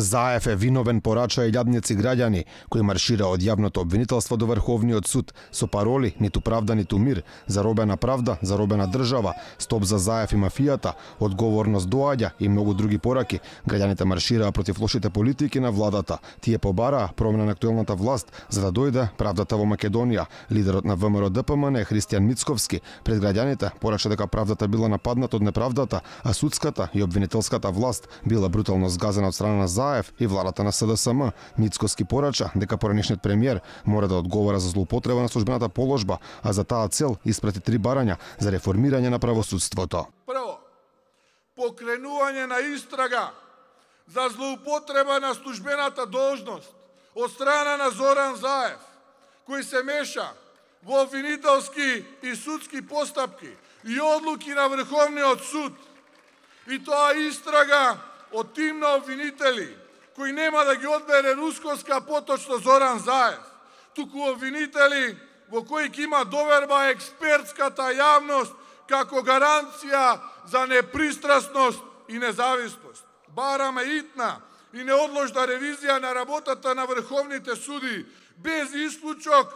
Заев е виновен, порача илјадници граѓани кои маршира од јавното обвинителство до Врховниот суд со пароли ниту правда ниту мир, заробена правда, заробена држава, стоп за Заев и мафијата, одговорност доаѓа и многу други пораки. Граѓаните маршираа против лошите политики на владата. Тие побараа промена на актуелната власт за да дојде правдата во Македонија. Лидерот на ВМРО ДПМН Христијан Мицковски пред граѓаните порача дека правдата била нападната од неправдата, а судската и обвинителската власт била брутално згазена од страна на Заев и владата на СДСМ. Мицковски порача дека поранишниот премиер мора да одговара за злоупотреба на службената положба, а за таа цел испрати 3 барања за реформирање на правосудството. Прво, покренување на истрага за злоупотреба на службената должност од страна на Зоран Заев, кој се меша во обвинителски и судски постапки и одлуки на Врховниот суд. И тоа истрага од тим на обвинители кои нема да ги одбере рускоска поточно Зоран Заев, туку обвинители во кои ќе има доверба експертската јавност како гаранција за непристрасност и независност. Бараме итна и неодложна ревизија на работата на врховните суди, без исклучок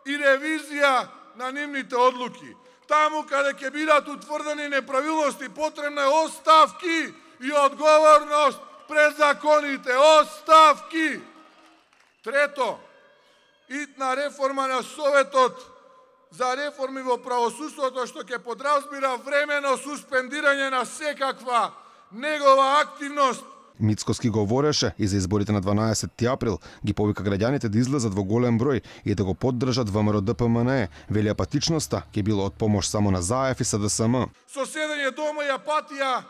и ревизија на нивните одлуки. Таму каде ќе бидат утврдени неправилности, потребна е оставки и одговорност пред законите. Оставки! Трето, итна реформа на Советот за реформи во правосудството, што ќе подразбира времено суспендирање на секаква негова активност. Мицковски говореше и за изборите на 12 април, ги повика граѓаните да излезат во голем број и да го поддржат ВМРО ДПМН. Вели апатичноста ќе било од помош само на Заев и СДСМ. Соседење дома и апатија,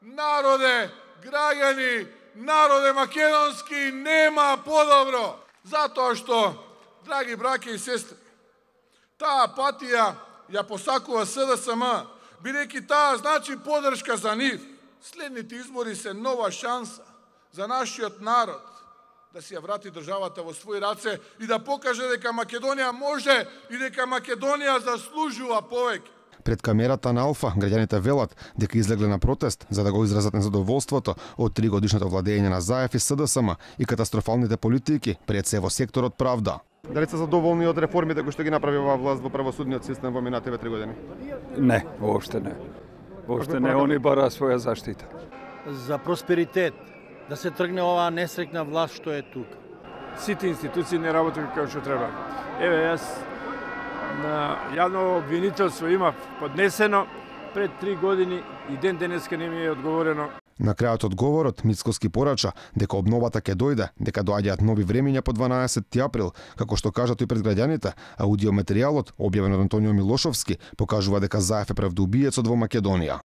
народе, граѓани, народе македонски, нема подобро. Затоа што, драги браќа и сестри, таа апатија ја посакува СДСМ, бидејќи таа значи поддршка за нив. Следните избори се нова шанса за нашиот народ да си ја врати државата во своји раце и да покаже дека Македонија може и дека Македонија заслужува повеќе. Пред камерата на Алфа граѓаните велат дека излегле на протест за да го изразат незадоволството од 3-годишното владење на Заев и СДСМ и катастрофалните политики пред се во секторот правда. Дали се задоволни од реформите кои што ги направи оваа власт во правосудниот систем во минативе 3 години? Не, воопште не. Воопште не, они бара своја заштита. За просперитет, да се тргне оваа несрекна власт што е тука. Сите институции не работат како што треба. Еве, јас на јавно обвинителство имав поднесено пред 3 години и ден денеска не ми е одговорено. На крајот од говорот Мицковски порача дека обновата ќе дојде, дека доаѓаат нови времиња по 12 април, како што кажа тој пред граѓаните, аудиоматеријалот објавен од Антонио Милошовски покажува дека Заев е правдоубиецот во Македонија.